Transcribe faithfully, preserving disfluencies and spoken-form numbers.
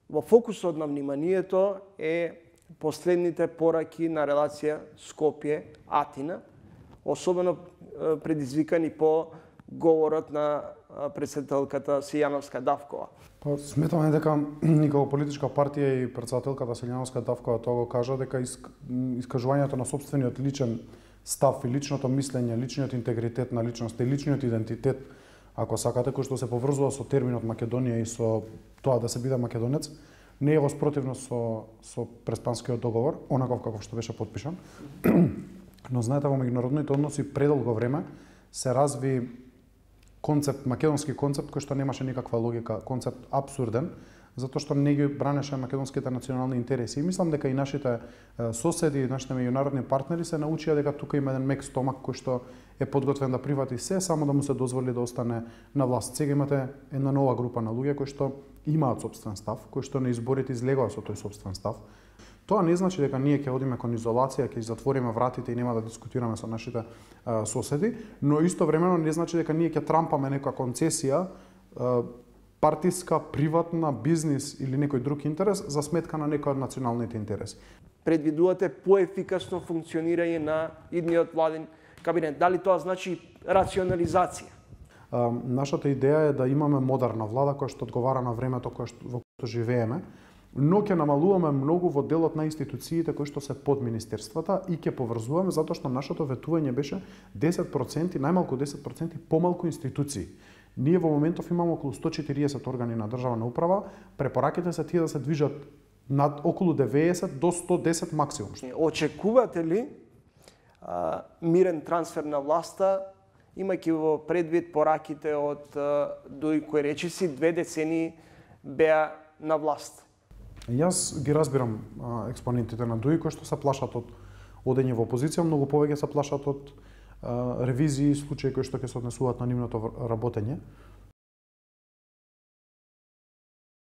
во фокусот на вниманието е последните пораки на релација Скопје-Атина, особено предизвикани по говорот на претседателката Силјановска Давкова. Па сметаме дека никако политичка партија и претседателката Силјановска Давкова тоа го кажа дека искажувањето на сопствениот личен став и личното мислење, личниот интегритет на личноста и личниот идентитет, ако сакате, кој што се поврзува со терминот Македонија и со тоа да се биде македонец, не е во спротивност со со преспанскиот договор, онаков како што беше потпишан. Но знаете, во меѓународните односи предолго време се разви концепт, македонски концепт кој што немаше никаква логика, концепт абсурден, затоа што не ги бранеше македонските национални интереси. И мислам дека и нашите соседи, нашите меѓународни партнери се научија дека тука има еден мек стомак кој што е подготвен да прифати се, само да му се дозволи да остане на власт. Сега имате една нова група на луѓе кои што имаат сопствен став, кои што на изборите излегоа со тој сопствен став. Тоа не значи дека ние ќе одиме кон изолација, ќе затвориме вратите и нема да дискутираме со нашите а, соседи, но истовремено не значи дека ние ќе трампаме нека концесија, а, партиска, приватна, бизнис или некој друг интерес за сметка на некој од националните интереси. Предвидувате поефикасно функционирање на идниот владен кабинет. Дали тоа значи рационализација? А, нашата идеја е да имаме модерна влада која што одговара на времето кое што, во което живееме, но ќе намалуваме многу во делот на институциите кои што се под министерствата и ќе поврзуваме затоа што нашето ветување беше десет проценти, најмалку десет проценти помалку институции. Ние во моментов имаме околу сто четириесет органи на државна управа, препораките се тие да се движат над околу деветдесет до сто десет максимум. Очекувате ли а, мирен трансфер на власта, имајќи во предвид пораките од Дуј кој речиси две децении беа на власт? Јас ги разбирам а, експонентите на Дуј кои што се плашат од одење во опозиција, многу повеќе се плашат од а, ревизии и случаи кои што ќе се однесуваат на нивното работење.